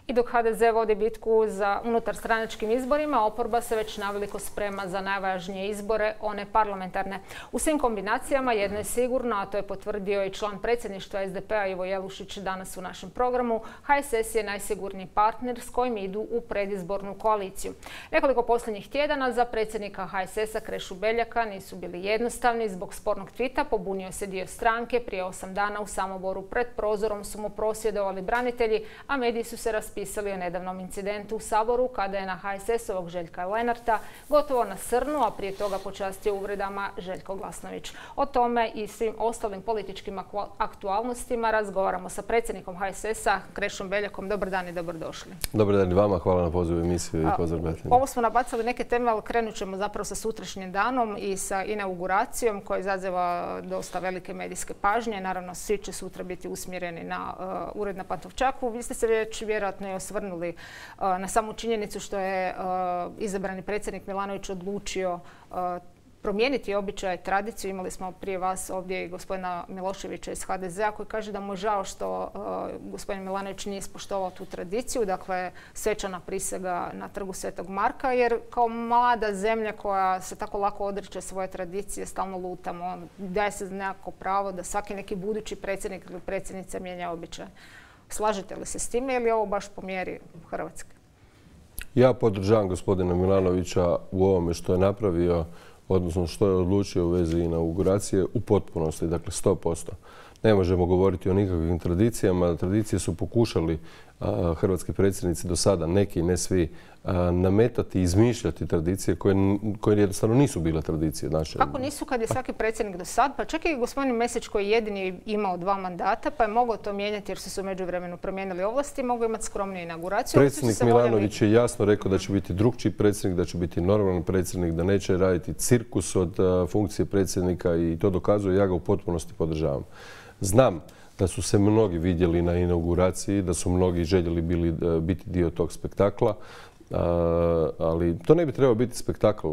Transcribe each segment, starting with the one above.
I dok HDZ vodi bitku za unutarstranačkim izborima, oporba se već naveliko sprema za najvažnije izbore, one parlamentarne. U svim kombinacijama jedno je sigurno, a to je potvrdio i član predsjedništva SDP-a Ivo Jelušić danas u našem programu. HSS je najsigurniji partner s kojim idu u predizbornu koaliciju. Nekoliko posljednjih tjedana za predsjednika HSS-a Krešu Beljaka nisu bili jednostavni. Zbog spornog tvita pobunio se dio stranke. Prije 8 dana u Samoboru pred prozorom su mu prosvjedovali branitelji, a mediji su se raspisali o nedavnom incidentu u Saboru kada je na HSS-ovog Željka Lenarta gotovo nasrnuo, a prije toga počastio uvredama Željko Glasnović. O tome i svim ostalim političkim aktualnostima razgovaramo sa predsjednikom HSS-a Krešom Beljakom. Dobar dan i dobrodošli. Dobar dan i vama, hvala na pozivu emisiju i pozdrav gledateljima. Ovo smo nabacali neke teme, ali krenut ćemo zapravo sa sutrašnjim danom i sa inauguracijom koja izaziva dosta velike medijske pažnje. Naravno, svi će sutra biti usmjereni na ured na Pantovčaku. Vi ste se već vjerojatno i osvrnuli na samu činjenicu što je izabrani predsjednik Milanović odlučio promijeniti običaj, tradiciju. Imali smo prije vas ovdje i gospodina Miloševića iz HDZ-a koji kaže da mu je žao što gospodin Milanović nije ispoštovao tu tradiciju, dakle svečana prisega na trgu Svetog Marka, jer kao mlada zemlja koja se tako lako odriče svoje tradicije, stalno lutamo, daje se nekako pravo da svaki neki budući predsjednik ili predsjednica mijenja običaj. Slažete li se s time ili je ovo baš po mjeri Hrvatske? Ja podržavam gospodina Milanovića u ovome što je napravio, odnosno što je odlučio u vezi inauguracije u potpunosti, dakle 100%. Ne možemo govoriti o nikakvim tradicijama. Tradicije su pokušali hrvatski predsjednici do sada, neki, ne svi, nametati i izmišljati tradicije koje jednostavno nisu bile tradicije naše. Kako nisu kad je svaki predsjednik do sad? Pa čak i gospodin Mesić koji je jedini imao 2 mandata pa je mogao to mijenjati jer su se u međuvremenu promijenili ovlasti, mogao imati skromniju inauguraciju. Predsjednik Milanović je jasno rekao da će biti drugčiji predsjednik, da će biti normalan predsjednik, da neće raditi cirkus od funkcije predsjednika i to dokazuje. Ja ga u potpunosti podržavam. Znam da su se mnogi vidjeli na inauguraciji, da su mnogi željeli biti dio tog spektakla, ali to ne bi trebao biti spektakl.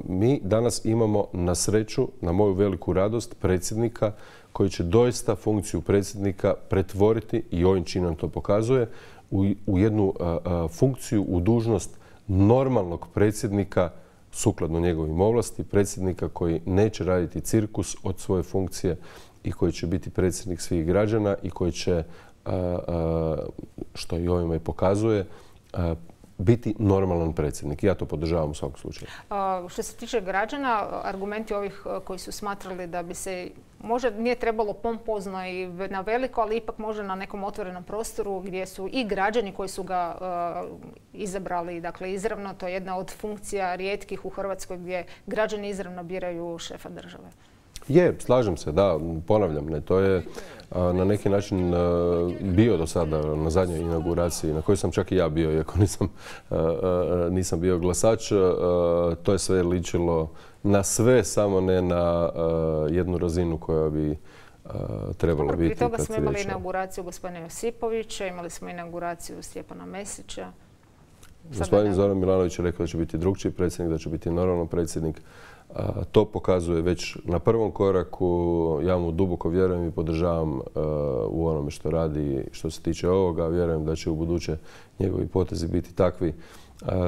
Mi danas imamo na sreću, na moju veliku radost, predsjednika koji će doista funkciju predsjednika pretvoriti, i ovim činom to pokazuje, u jednu funkciju, u dužnost normalnog predsjednika sukladno njegovim ovlasti, predsjednika koji neće raditi cirkus od svoje funkcije i koji će biti predsjednik svih građana i koji će, što i ovime pokazuje, biti normalan predsjednik. Ja to podržavam u svakom slučaju. Što se tiče građana, argumenti ovih koji su smatrali da bi se možda nije trebalo pompozno i na veliko, ali ipak možda na nekom otvorenom prostoru gdje su i građani koji su ga izabrali, dakle izravno, to je jedna od funkcija rijetkih u Hrvatskoj gdje građani izravno biraju šefa države. Je, slažem se, da, ponavljam, ne, to je na neki način bio do sada na zadnjoj inauguraciji, na kojoj sam čak i ja bio, iako nisam bio glasač. To je sve ličilo na sve, samo ne na jednu razinu koja bi trebalo biti. Prije toga smo imali inauguraciju gospodina Josipovića, imali smo inauguraciju Stjepana Mesića. Gospodin Zoran Milanović je rekao da će biti drugčiji predsjednik, da će biti normalan predsjednik. To pokazuje već na prvom koraku. Ja mu duboko vjerujem i podržavam u onome što radi što se tiče ovoga. Vjerujem da će u buduće njegovi potezi biti takvi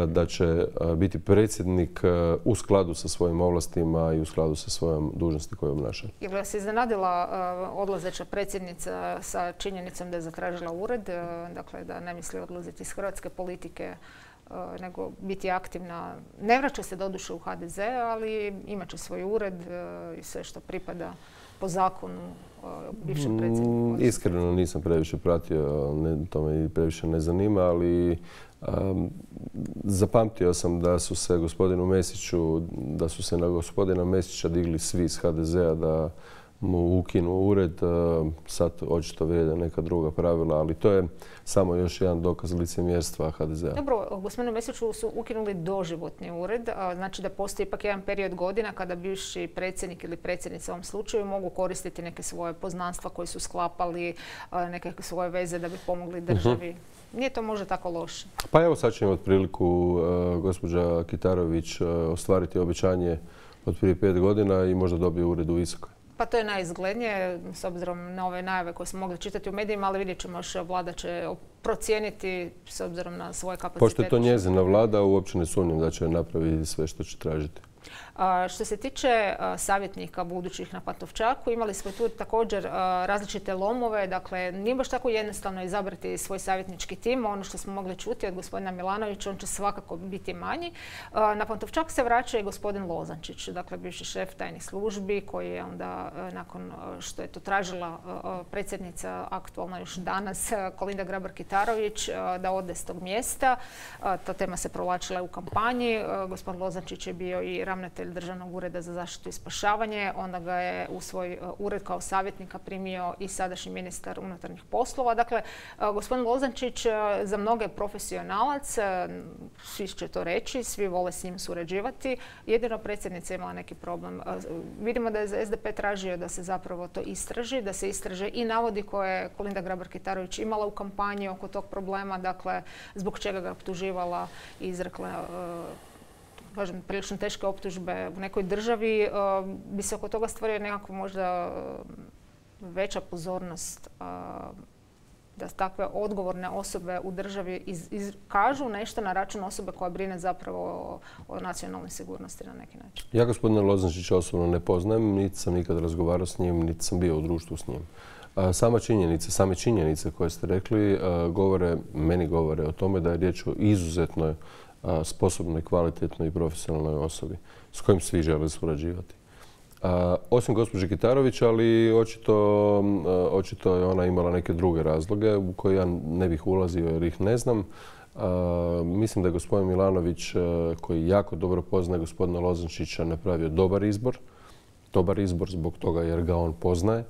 da će biti predsjednik u skladu sa svojim ovlastima i u skladu sa svojom dužnosti koju obnaša. Je li vas iznenadila odlazeća predsjednica sa činjenicom da je zatražila ured, dakle da ne misli odlaziti iz hrvatske politike, nego biti aktivna? Ne vraća se doduše u HDZ, ali imat će svoj ured i sve što pripada po zakonu bivšem predsjedniku. Iskreno nisam previše pratio, to me previše ne zanima, ali zapamtio sam da su se na gospodina Mesića digli svi iz HDZ-a da mu ukinu ured. Sad očito vrijede neka druga pravila, ali to je samo još jedan dokaz licemjerstva HDZ-a. Dobro, gospodinu Mesiću su ukinuli doživotni ured, znači da postoji ipak jedan period godina kada bivši predsjednik ili predsjednica u ovom slučaju mogu koristiti neke svoje poznanstva koji su sklapali, neke svoje veze da bi pomogli državi. Nije to možda tako loše? Pa evo sad će imati priliku gospođa Kitarović ostvariti obećanje od prije 5 godina i možda dobije ured u Visokoj. Pa to je najizglednije, s obzirom na ove najave koje smo mogli čitati u medijima, ali vidjet ćemo još vlada će procijeniti s obzirom na svoje kapacitete. Pošto je to njezina vlada, uopće ne sumnjam da će napraviti sve što će tražiti. Što se tiče savjetnika budućih na Pantovčaku, imali smo tu također različite lomove. Dakle, nije baš tako jednostavno izabrati svoj savjetnički tim. Ono što smo mogli čuti od gospodina Milanovića, on će svakako biti manji. Na Pantovčak se vraća i gospodin Lozančić, dakle bivši šef tajnih službi, koji je onda, nakon što je to tražila predsjednica aktualna još danas, Kolinda Grabar-Kitarović, da ode s tog mjesta. Ta tema se provlačila u kampanji. Gospodin Lozančić je bio i ravnatelj Državnog ureda za zaštitu i spašavanje. Onda ga je u svoj ured kao savjetnika primio i sadašnji ministar unutarnjih poslova. Dakle, gospodin Lozančić za mnoge profesionalac, svi će to reći, svi vole s njim surađivati. Jedino predsjednica imala neki problem. Vidimo da je SDP tražio da se zapravo to istraži, da se istraže i navodi koje je Kolinda Grabar-Kitarović imala u kampanji oko tog problema, dakle, zbog čega ga optuživala i izrekla kažem, prilično teške optužbe u nekoj državi, bi se oko toga stvorio nekako možda veća pozornost da takve odgovorne osobe u državi kažu nešto na račun osobe koja brine zapravo o nacionalnoj sigurnosti na neki način. Ja gospodina Lozančića osobno ne poznajem, niti sam nikad razgovarao s njim, niti sam bio u društvu s njim. Same činjenice koje ste rekli meni govore o tome da je riječ o izuzetnoj sposobnoj, kvalitetnoj i profesionalnoj osobi s kojim svi žele surađivati. Osim gospođe Kitarović, ali očito je ona imala neke druge razloge u koje ja ne bih ulazio jer ih ne znam. Mislim da je gospodin Milanović, koji jako dobro poznaje gospodina Lozančića, napravio dobar izbor zbog toga jer ga on poznaje.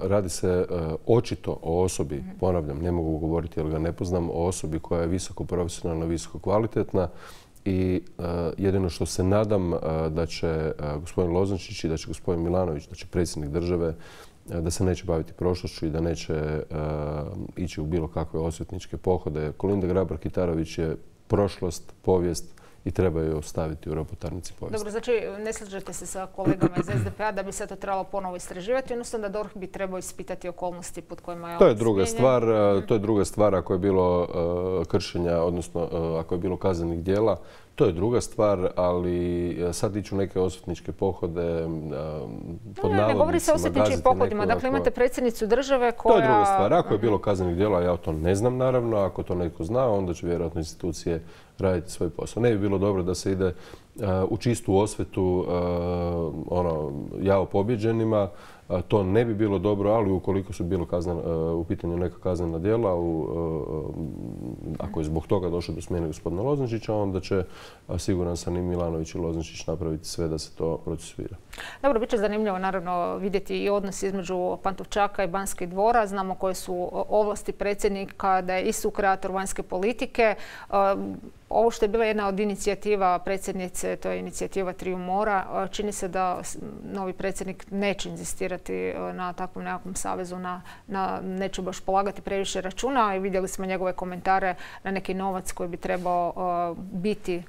Radi se očito o osobi, ponavljam, ne mogu govoriti jer ga ne poznam, o osobi koja je visoko profesionalna, visoko kvalitetna i jedino što se nadam da će gospodin Lozančić i da će gospodin Milanović, da će predsjednik države, da se neće baviti prošlošću i da neće ići u bilo kakve osvetničke pohode. Kolinda Grabar-Kitarović je prošlost, povijest i treba je ostaviti u ropotarnici povijesti. Dobro, znači ne slažete se sa kolegama iz SDP-a da bi se to trebalo ponovo istraživati, odnosno da DORH bi trebao ispitati okolnosti pod kojima je to je druga stvar. To je druga stvar ako je bilo kršenja, odnosno ako je bilo kaznenih djela. To je druga stvar, ali sad iću neke osvetničke pohode pod navodnicima. Ne govori se o osvetničkim pohodima. Dakle, imate predsjednicu države koja... To je druga stvar. Ako je bilo kaznenih djela, ja to ne znam naravno. Ako to netko zna, onda će vjerojatno institucije raditi svoj posao. Ne bi bilo dobro da se ide u čistu osvetu jao pobjeđenima. To ne bi bilo dobro, ali ukoliko su bilo u pitanju neka kaznena djela, ako je zbog toga došlo do smjene gospodina Lozančića, onda će, siguran sam, i Milanović i Lozančić napraviti sve da se to procesuira. Dobro, bit će zanimljivo naravno vidjeti i odnos između Pantovčaka i Banskih dvora. Znamo koje su ovlasti predsjednika, da je i sukreator vanjske politike. Ovo što je bila jedna od inicijativa predsjednice, to je inicijativa Triju mora. Čini se da novi predsjednik neće inzistirati na takvom nekakvom savezu, neće baš polagati previše računa. I vidjeli smo njegove komentare na neki novac koji bi trebao biti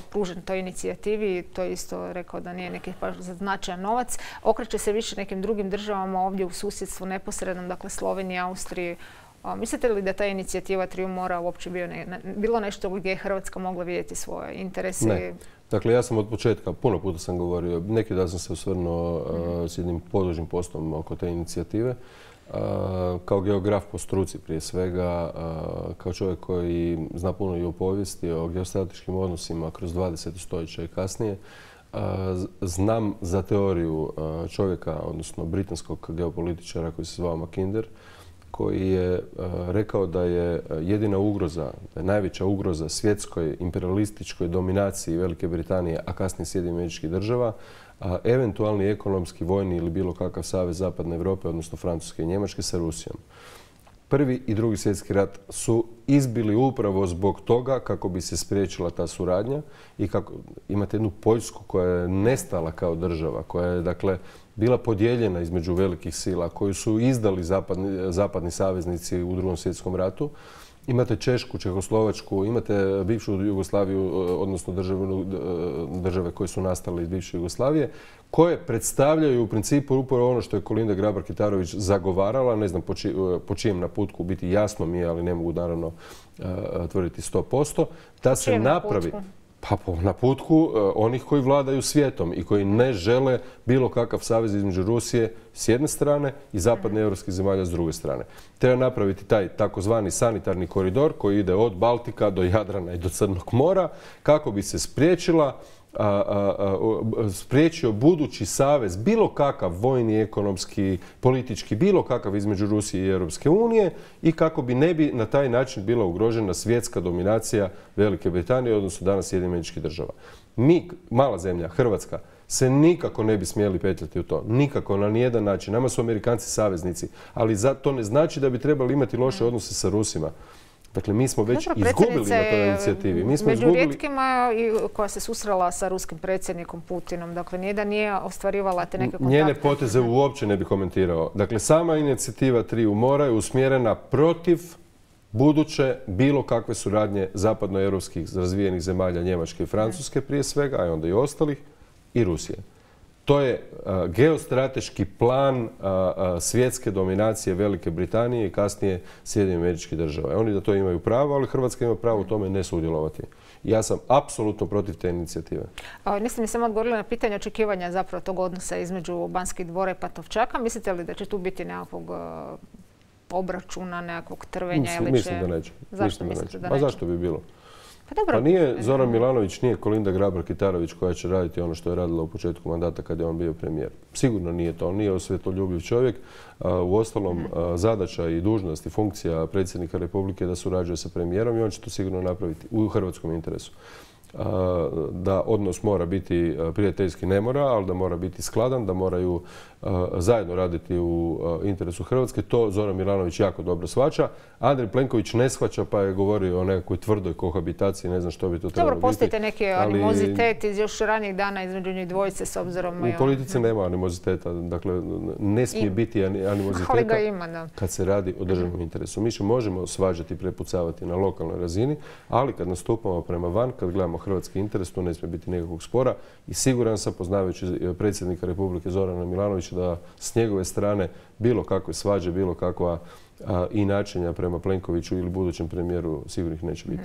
pružen toj inicijativi. To je isto rekao da nije neki baš značajan novac. Okreće se više nekim drugim državama ovdje u susjedstvu neposrednom, dakle Sloveniji, Austriji. Mislite li da ta inicijativa Triju mora uopće bilo nešto gdje je Hrvatska mogla vidjeti svoje interese? Ne. Dakle, ja sam od početka, puno puta sam govorio, neki dan sam se osvrnuo s jednim podložnim postom oko te inicijative. Kao geograf po struci prije svega, kao čovjek koji zna puno i o povijesti, o geostrateškim odnosima kroz 20. stoljeća i kasnije, znam za teoriju čovjeka, odnosno britanskog geopolitičara koji se zvao Mackinder, koji je rekao da je jedina ugroza, da je najveća ugroza svjetskoj imperialističkoj dominaciji Velike Britanije, a kasnije Sjedinjenih Američkih Država, eventualni ekonomski, vojni ili bilo kakav savez Zapadne Europe, odnosno Francuske i Njemačke sa Rusijom. Prvi i drugi svjetski rat su izbili upravo zbog toga kako bi se spriječila ta suradnja i kako imate jednu Poljsku koja je nestala kao država, koja je dakle bila podijeljena između velikih sila koju su izdali zapadni saveznici u Drugom svjetskom ratu Imate Češku, Čehoslovačku, imate bivšu Jugoslaviju, odnosno države koje su nastale iz bivše Jugoslavije, koje predstavljaju u principu upravo ono što je Kolinda Grabar-Kitarović zagovarala, ne znam po čijem naputku, biti jasno mi je, ali ne mogu naravno tvrditi 100%, da se napravi... Pa po naputku onih koji vladaju svijetom i koji ne žele bilo kakav savez između Rusije s jedne strane i zapadne europskih zemalja s druge strane. Treba napraviti taj takozvani sanitarni koridor koji ide od Baltika do Jadrana i do Crnog mora kako bi se spriječio budući savez, bilo kakav vojni, ekonomski, politički, bilo kakav između Rusije i Europske unije i kako bi ne bi na taj način bila ugrožena svjetska dominacija Velike Britanije, odnosno danas Sjedinjenih Američkih Država. Mi, mala zemlja, Hrvatska, se nikako ne bi smjeli petljati u to. Nikako, na nijedan način. Nama su Amerikanci saveznici, ali to ne znači da bi trebali imati loše odnose sa Rusima. Dakle, mi smo već izgubili na toj inicijativi. Među rijetkima koja se susrela sa ruskim predsjednikom Putinom. Dakle, nijedan nije ostvarivala te neke kontakte. Njene poteze uopće ne bi komentirao. Dakle, sama inicijativa Triju mora je usmjerena protiv buduće bilo kakve suradnje zapadnoeuropskih razvijenih zemalja, Njemačke i Francuske prije svega, a onda i ostalih, i Rusije. To je geostrateški plan svjetske dominacije Velike Britanije i kasnije Sjedinjenih Američkih Država. Oni da to imaju pravo, ali Hrvatska ima pravo u tome ne sudjelovati. Ja sam apsolutno protiv te inicijative. Niste mi samo odgovorili na pitanje očekivanja zapravo tog odnosa između Banskih dvora i Pantovčaka. Mislite li da će tu biti nekakvog obračuna, nekakvog trvenja? Mislim da neće. Zašto mislite da neće? A zašto bi bilo? Pa nije Zoran Milanović, nije Kolinda Grabar-Kitarović koja će raditi ono što je radila u početku mandata kad je on bio premijer. Sigurno nije to. On nije osvjetoljubiv čovjek. Uostalom, zadaća i dužnost i funkcija predsjednika Republike da surađuje sa premijerom i on će to sigurno napraviti u hrvatskom interesu. Da odnos mora biti prijateljski, ne mora, ali da mora biti skladan, da moraju zajedno raditi u interesu Hrvatske. To Zoran Milanović jako dobro shvaća. Andrej Plenković ne shvaća pa je govorio o nekakvoj tvrdoj kohabitaciji, ne znam što bi to trebalo biti. Dobro, postoji neki animozitet iz još ranijih dana između njih dvojice s obzirom... U politici nema animoziteta, dakle ne smije biti animoziteta ali ga ima, da. Kad se radi o državnom interesu. Mi se možemo svađati i prepucavati na lokalnoj razini, ali kad nastupamo prema van, kad gledamo hrvatski interes, tu ne smije biti nekakvog spora i siguran sam, poznavajući predsjednika Republike Zorana Milanovića, da s njegove strane bilo kakve svađe, bilo kakva inačenja prema Plenkoviću ili budućem premijeru sigurnih neće biti.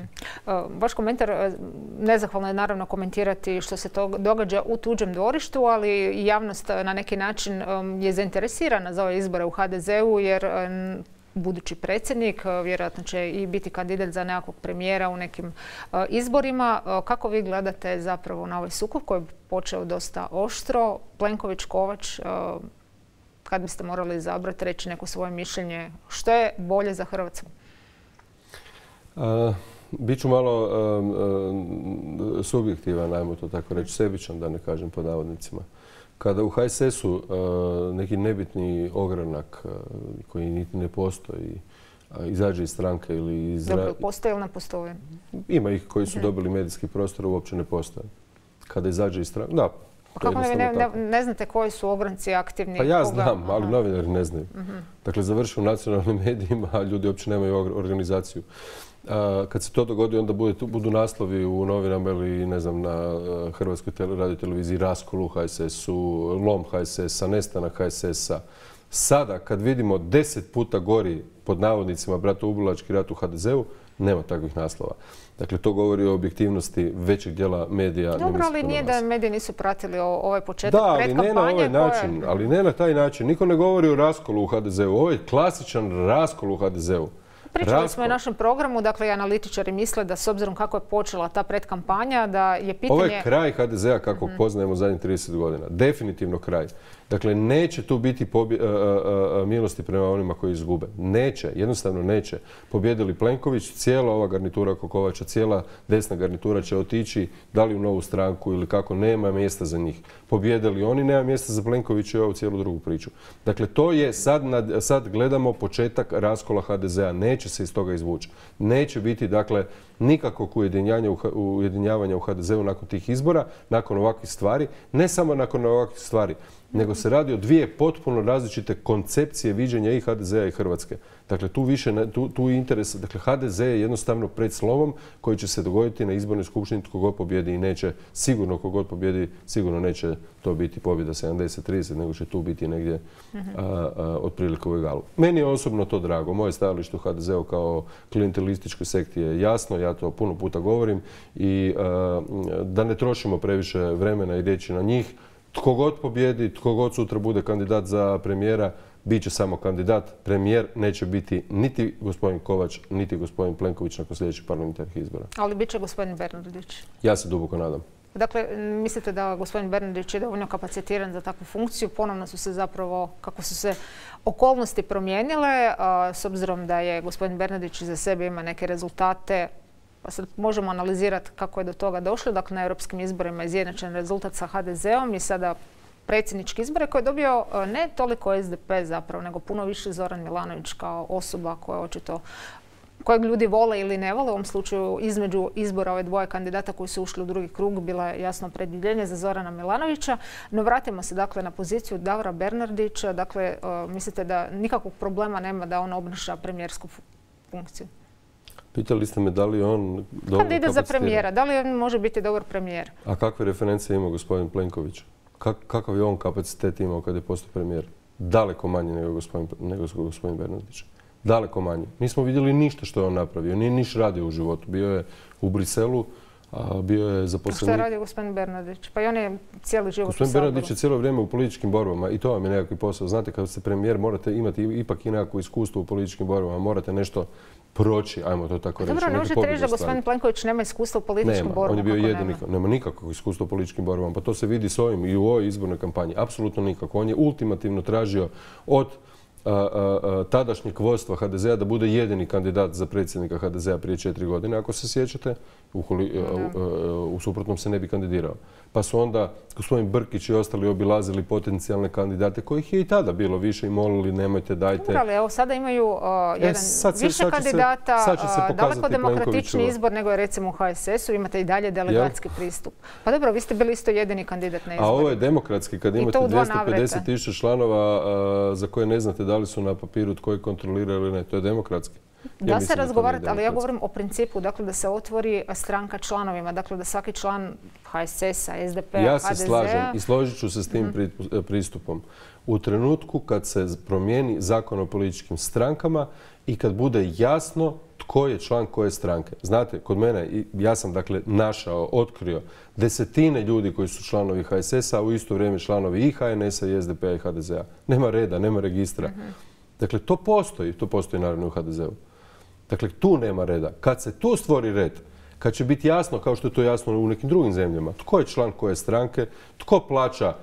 Vaš komentar, nezahvalno je naravno komentirati što se to događa u tuđem dvorištu, ali javnost na neki način je zainteresirana za ove izbore u HDZ-u jer budući predsjednik vjerojatno će i biti kandidat za nekakvog premijera u nekim izborima. Kako vi gledate zapravo na ovaj sukob koji je počeo dosta oštro? Plenković-Kovač, kad biste morali izabrati, reći neko svoje mišljenje, što je bolje za Hrvatsku? Biću malo subjektivan, ajmo to tako reći, sebičan, da ne kažem pod navodnicima. Kada u HSS-u neki nebitni ogranak koji niti ne postoji izađe iz stranke ili iz... Dobro, postoji ili ne postoji? Ima ih koji su dobili medijski prostor, uopće ne postoje. Kada izađe iz stranke... Da. Kako ne znate koji su ogranci aktivni? Pa ja znam, ali novinari ne znaju. Dakle, završio u nacionalnim medijima, a ljudi uopće nemaju organizaciju. Kad se to dogodi, onda budu naslovi u novinama ili, ne znam, na Hrvatskoj radioteleviziji raskol u HSS-u, lom HSS-a, nestanak HSS-a. Sada, kad vidimo 10 puta gori, pod navodnicima, bratoubilački rat u HDZ-u, nema takvih naslova. Dakle, to govori o objektivnosti većeg dijela medija. Dobro, ali nije da mediji nisu pratili ovaj početak predkampanje. Da, ali ne na ovaj način. Ali ne na taj način. Niko ne govori o raskolu u HDZ-u. Ovo je klasičan raskol u HDZ-u. Pričali smo i našem programu, dakle, analitičari misle da s obzirom kako je počela ta predkampanja, da je pitanje... Ovo je kraj HDZ-a kako poznajemo zadnjih 30 godina. Definitivno kraj. Dakle, neće tu biti milosti prema onima koji izgube. Neće, jednostavno neće. Pobjedili Plenković, cijela ova garnitura Kokovača, cijela desna garnitura će otići da li u novu stranku ili kako, nema mjesta za njih. Pobjedili oni, nema mjesta za Plenkovića i ovu cijelu drugu priču. Dakle, to je sad gledamo početak raskola HDZ-a. Neće se iz toga izvući. Neće biti, dakle, nikakvog ujedinjavanja u HDZ-u nakon tih izbora, nakon ovakvih stvari. Ne samo nakon ovakvih stvari. nego se radi o dvije potpuno različite koncepcije viđenja i HDZ-a i Hrvatske. Dakle, tu interes, dakle, HDZ je jednostavno pred slovom koji će se dogoditi na izbornoj skupštini tko god pobjedi i neće, sigurno tko god pobjedi, sigurno neće to biti pobjeda 70-30, nego će tu biti negdje otprilike u egalu. Meni je osobno to drago. Moje stajalište u HDZ-u kao klijentelističkoj sekti je jasno, ja to puno puta govorim i da ne trošimo previše vremena i riječi na njih. Tko god pobjedi, tko god sutra bude kandidat za premijera, bit će samo kandidat. Premijer neće biti niti gospodin Kovač, niti gospodin Plenković nakon sljedećih parlamentarnih izbora. Ali bit će gospodin Bernardić. Ja se duboko nadam. Dakle, mislite da gospodin Bernardić je dovoljno kapacitiran za takvu funkciju? Ponovno su se zapravo, kako su se okolnosti promijenile, s obzirom da je gospodin Bernardić za sebe ima neke rezultate, pa sad možemo analizirati kako je do toga došlo. Dakle, na europskim izborima je izjednačen rezultat sa HDZ-om i sada predsjednički izbore koje je dobio ne toliko SDP zapravo, nego puno više Zoran Milanović kao osoba koja očito kojeg ljudi vole ili ne vole. U ovom slučaju između izbora ove dvoje kandidata koji su ušli u drugi krug bila je jasno opredjeljenje za Zorana Milanovića. No vratimo se dakle na poziciju Davora Bernardića. Dakle, mislite da nikakvog problema nema da on obnaša premijersku funkciju? Pitali ste me da li on dobro kandidat za premijera, da li on može biti dobar premijer? A kakve referencije ima gospodin Plenković? Kakav je on kapacitet imao kad je postao premijer? Daleko manje nego gospodin Bernardić. Daleko manje. Nismo vidjeli ništa što je on napravio. Nije niš radio u životu. Bio je u Briselu, a bio je zaposlenik. Što je radio gospodin Bernardić? Pa i on je cijeli život u Saboru. Gospodin Bernardić je cijelo vrijeme u političkim borbama i to vam je nekakvi posao. Znate, kad ste premijer morate imati ipak i nekakvo iskustvo u političkim borbama. Morate nešto proći, ajmo to tako reći. Dobro, ne možete reći da gospodin Plenković nema iskustva u političkim borbama. On je bio jedini, nema nikakvog iskustva u političkim borbama. Pa to se vidi s ovim i u ovoj izbornoj kampanji. Apsolutno nikako. On je ultimativno tražio od tadašnjeg vodstva HDZ-a da bude jedini kandidat za predsjednika HDZ-a prije 4 godine, ako se sjećate. U suprotnom se ne bi kandidirao. Pa su onda gospodin Brkić i ostali obilazili potencijalne kandidate kojih je i tada bilo više i molili nemojte, dajte. Ali evo sada imaju više kandidata, daleko demokratični izbor nego je recimo u HSS-u, imate i dalje delegatski pristup. Pa dobro, vi ste bili isto jedini kandidat na izboru. A ovo je demokratski kad imate 250.000 članova za koje ne znate da li su na papiru tko je kontrolira ili ne. To je demokratski. Da se razgovarati, ali ja govorim o principu, dakle da se otvori stranka članovima, dakle da svaki član HSS-a, SDP-a, HDZ-a... Ja se slažem i složit ću se s tim pristupom. U trenutku kad se promijeni zakon o političkim strankama i kad bude jasno tko je član koje stranke. Znate, kod mene, ja sam dakle našao, otkrio desetine ljudi koji su članovi HSS-a, a u isto vrijeme članovi i HNS-a i SDP-a i HDZ-a. Nema reda, nema registra. Dakle, to postoji naravno u HDZ-u. Dakle, tu nema reda. Kad se tu stvori red, kad će biti jasno, kao što je to jasno u nekim drugim zemljama, tko je član koje stranke, tko plaća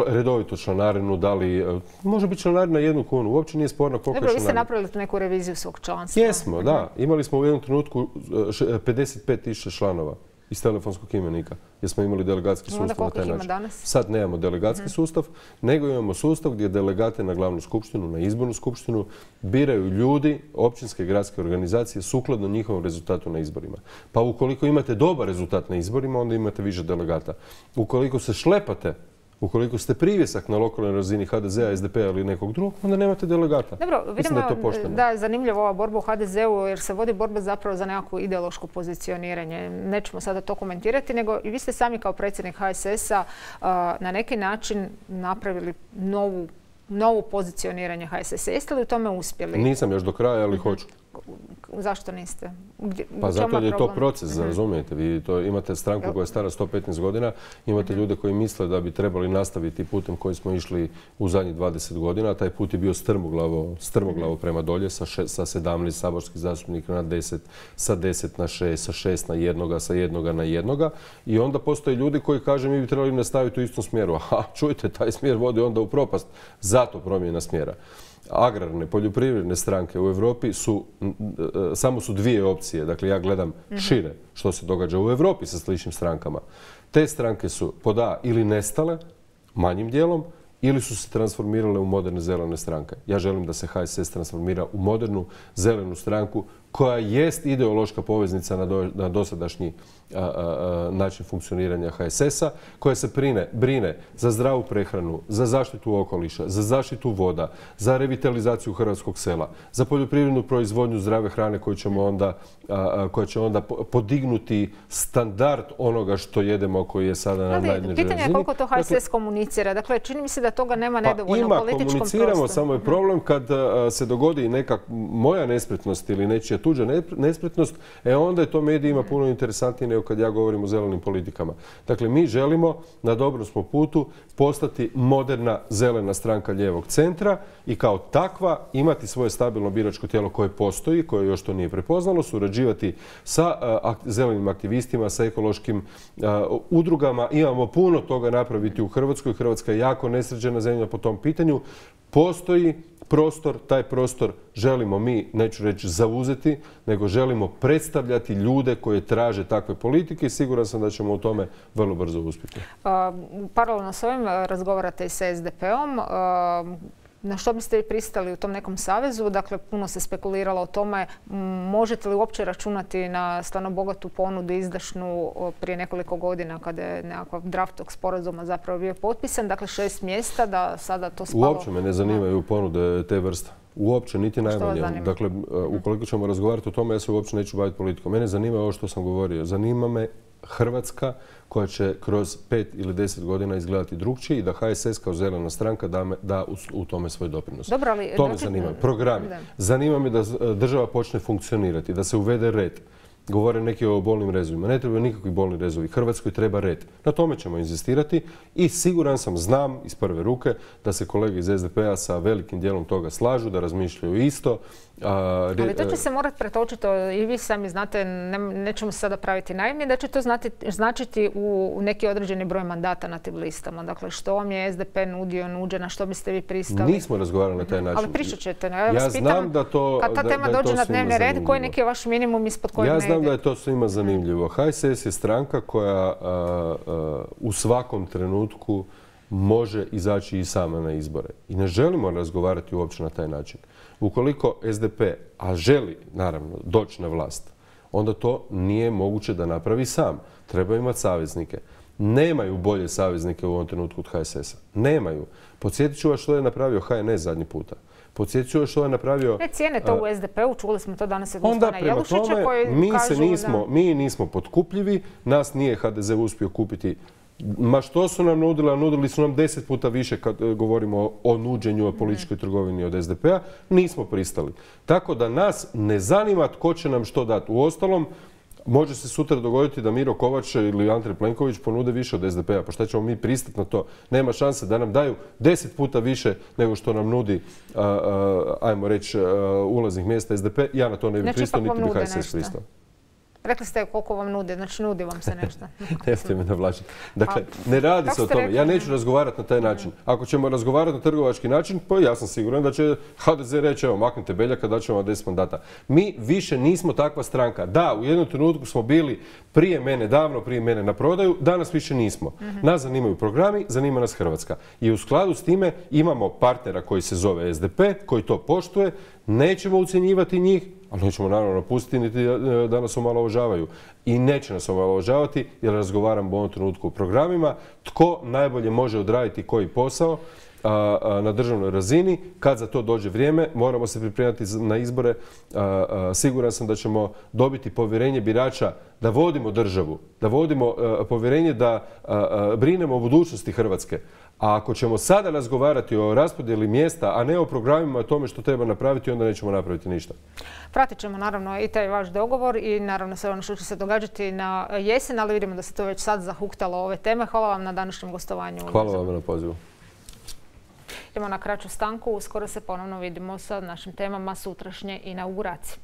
redovito članarinu, da li može biti članarina 1 kunu, uopće nije sporno koliko je članarina. Vi ste napravili neku reviziju svog članstva. Jesmo, da. Imali smo u jednom trenutku 55.000 članova iz telefonskog imenika, jer smo imali delegatski sustav na taj način. Sad nemamo delegatski sustav, nego imamo sustav gdje delegate na glavnu skupštinu, na izbornu skupštinu biraju ljudi, općinske i gradske organizacije sukladno njihovom rezultatu na izborima. Pa ukoliko imate dobar rezultat na izborima, onda imate više delegata. Ukoliko se šlepate, ukoliko ste privjesak na lokalnoj razini HDZ-a, SDP-a ili nekog drugog, onda nemate delegata. Dobro, vidimo da je zanimljiva ova borba u HDZ-u jer se vodi borba zapravo za nekako ideološko pozicioniranje. Nećemo sada to komentirati, nego i vi ste sami kao predsjednik HSS-a na neki način napravili novu pozicioniranje HSS-a. Jeste li u tome uspjeli? Nisam još do kraja, ali hoću. Zašto niste? Pa zato je to proces, razumijete. Vi imate stranku koja je stara 115 godina, imate ljude koji misle da bi trebali nastaviti putem koji smo išli u zadnjih 20 godina. Taj put je bio strmoglavo prema dolje, sa 17 saborskih zastupnika na 10, sa 10 na 6, sa 6 na 1, sa 1 na 1. I onda postoje ljudi koji kažu mi bi trebali nastaviti u istom smjeru. Aha, čujte, taj smjer vodi onda u propast. Zato promjena smjera. Agrarne, poljoprivredne stranke u Europi samo su dvije opcije. Dakle, ja gledam šire što se događa u Europi sa sličnim strankama. Te stranke su pod A ili nestale, manjim dijelom, ili su se transformirale u moderne zelene stranke. Ja želim da se HSS transformira u modernu zelenu stranku koja jest ideološka poveznica na dosadašnji način funkcioniranja HSS-a, koja se brine za zdravu prehranu, za zaštitu okoliša, za zaštitu voda, za revitalizaciju hrvatskog sela, za poljoprivrednu proizvodnju zdrave hrane koja će onda podignuti standard onoga što jedemo, koji je sada na najnižoj razini. Pitanje je koliko to HSS komunicira. Dakle, čini mi se da toga nema nedovoljno u političkom prostoru. Komuniciramo, samo je problem kad se dogodi neka moja nespretnost ili nečija tuđa nespretnost, onda je to medijima puno interesantnije nego kad ja govorim o zelenim politikama. Dakle, mi želimo, na dobrom smo putu, postati moderna zelena stranka lijevog centra i kao takva imati svoje stabilno biračko tijelo koje postoji, koje još to nije prepoznalo, surađivati sa zelenim aktivistima, sa ekološkim udrugama. Imamo puno toga napraviti u Hrvatskoj. Hrvatska je jako nesređena zemlja po tom pitanju. Postoji prostor, taj prostor želimo mi, neću reći zauzeti, nego želimo predstavljati ljude koji traže takve politike i siguran sam da ćemo u tome vrlo brzo uspjeti. Paralelno s ovim razgovarate i sa SDP-om. Na što biste vi pristali u tom nekom savezu? Dakle, puno se spekuliralo o tome. Možete li uopće računati na stvarno bogatu ponudu izdašnu prije nekoliko godina kada je nekakav draft tog sporazuma zapravo bio potpisan? Dakle, 6 mjesta, da sada to spalo... Uopće me ne zanimaju ponude te vrste. Uopće, niti najmanje. Dakle, ukoliko ćemo razgovarati o tome, ja se uopće neću baviti politikom. Mene zanima ovo što sam govorio. Zanima me Hrvatska koja će kroz 5 ili 10 godina izgledati drugčije i da HSS kao zelena stranka da u tome svoj doprinos. To me zanima. Programi. Zanima me da država počne funkcionirati, da se uvede red. Govore neki o bolnim rezovima. Ne trebaju nikakvi bolni rezovi. Hrvatskoj treba red. Na tome ćemo inzistirati i siguran sam, znam iz prve ruke da se kolege iz SDP-a sa velikim dijelom toga slažu, da razmišljaju isto. Ali to će se morati pretočiti, i vi sami znate, nećemo se sada praviti naivni, da će to značiti u neki određeni broj mandata na tim listama. Dakle, što vam je SDP nuđe, na što biste vi pristali? Nismo razgovarali na taj način. Ali pričat ćete. Ja vas pitam, kad ta tema dođe na dnevni red, koji je neki vaš minimum ispod kojeg ne ide? Ja znam da je to svima zanimljivo. HSS je stranka koja u svakom trenutku može izaći i sama na izbore. I ne želimo razgovarati uopće na taj način. Ukoliko SDP, a želi naravno doći na vlast, onda to nije moguće da napravi sam. Treba imati saveznike. Nemaju bolje saveznike u ovom trenutku od HSS-a. Nemaju. Podsjetit ću vas što je napravio HNS zadnji puta. Podsjetit ću vas što je napravio... Ne cijene to u SDP-u, čuli smo to danas od gospodina Jelušića koji kažu... Mi nismo potkupljivi, nas nije HDZ uspio kupiti. Ma što su nam nudili, a nudili su nam 10 puta više kad govorimo o nuđenju, o političkoj trgovini od SDP-a, nismo pristali. Tako da nas ne zanima tko će nam što dati. Uostalom, može se sutra dogoditi da Miro Kovač ili Andrej Plenković ponude više od SDP-a. Pa šta ćemo mi pristati na to? Nema šanse da nam daju 10 puta više nego što nam nudi, ajmo reći, ulaznih mjesta SDP. Ja na to ne bi pristao, niti bi HSS pristao. Rekli ste koliko vam nude, znači nudi vam se nešto. Nemojte me navlačiti. Dakle, ne radi se o tome. Ja neću razgovarati na taj način. Ako ćemo razgovarati na trgovački način, pa ja sam siguran da će HDZ reći, evo, maknite Beljaka, da ćemo 10 mandata. Mi više nismo takva stranka. Da, u jednom trenutku smo bili davno prije mene na prodaju, danas više nismo. Nas zanimaju programi, zanima nas Hrvatska. I u skladu s time imamo partnera koji se zove SDP, koji to poštuje, nećemo ucjenjivati njih, ali nećemo naravno pustiti niti da nas omalovažavaju. I neće nas omalovažavati jer razgovaram u ovom trenutku o programima. Tko najbolje može odraditi koji posao na državnoj razini. Kad za to dođe vrijeme, moramo se pripremati na izbore. Siguran sam da ćemo dobiti povjerenje birača da vodimo državu, da vodimo povjerenje da brinemo o budućnosti Hrvatske. A ako ćemo sada razgovarati o raspodjeli mjesta, a ne o programima, o tome što treba napraviti, onda nećemo napraviti ništa. Pratit ćemo naravno i taj vaš dogovor i naravno sve ono što će se događati na jesen, ali vidimo da se to već sad zahuktalo ove teme. Hvala vam na današnjem gostovanju. Hvala vam na pozivu. Idemo na kraću stanku, uskoro se ponovno vidimo sa našim temama sutrašnje inauguracije.